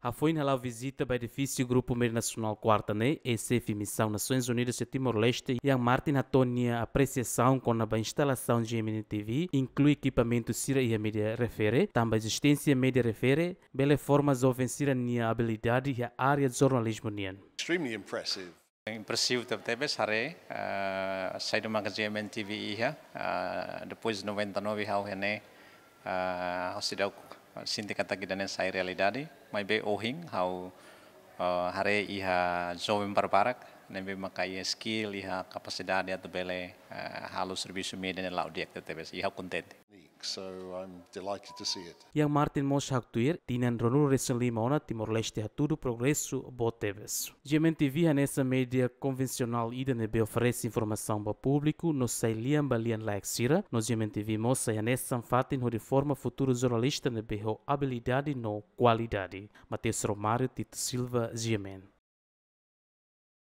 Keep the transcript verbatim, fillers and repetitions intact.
Hafoin hala'o vizita ba edifísiu Grupu Média Nasionál Kuarta ne'e, eis-xefe Misaun Nasoins Unidas iha Timor-Leste, Ian Martin hato'o nia apresiasaun kona-ba instalasaun G M N T V, inklui ekipamentu sira iha média refere, tanba ezisténsia média refere bele forma joven sira-nia abilidade iha área jornalizmu nian. Extremely impressive. Impresivu tebetebes haree, eh, saida maka G M N T V iha, eh, depois noventa e nove ha'u iha ne'e, eh, ha'u seidauk sente katak ida-ne'e sai realidade, maibé ohin ha'u, eh, haree iha joven barbarak ne'ebé maka iha skill, iha kapasidade atu bele, eh, halo servisu média ne'e la'o di'ak tebetebes, i ha'u kontente. So I'm delighted to see it. Ian Martin mós haktuir, tinan ruanulu-resin-lima ona Timor-Leste hatudu progresu boot tebes. G M N T V hanesan média konvensionál ida ne'ebé oferese informasaun ba públiku no sai lian ba lian-laek sira, no G M N T V mós sai hanesan fatin hodi forma futuru jornalista ne'ebé ho abilidade no kualidade. Mateus Romário, Tito Silva, G M N.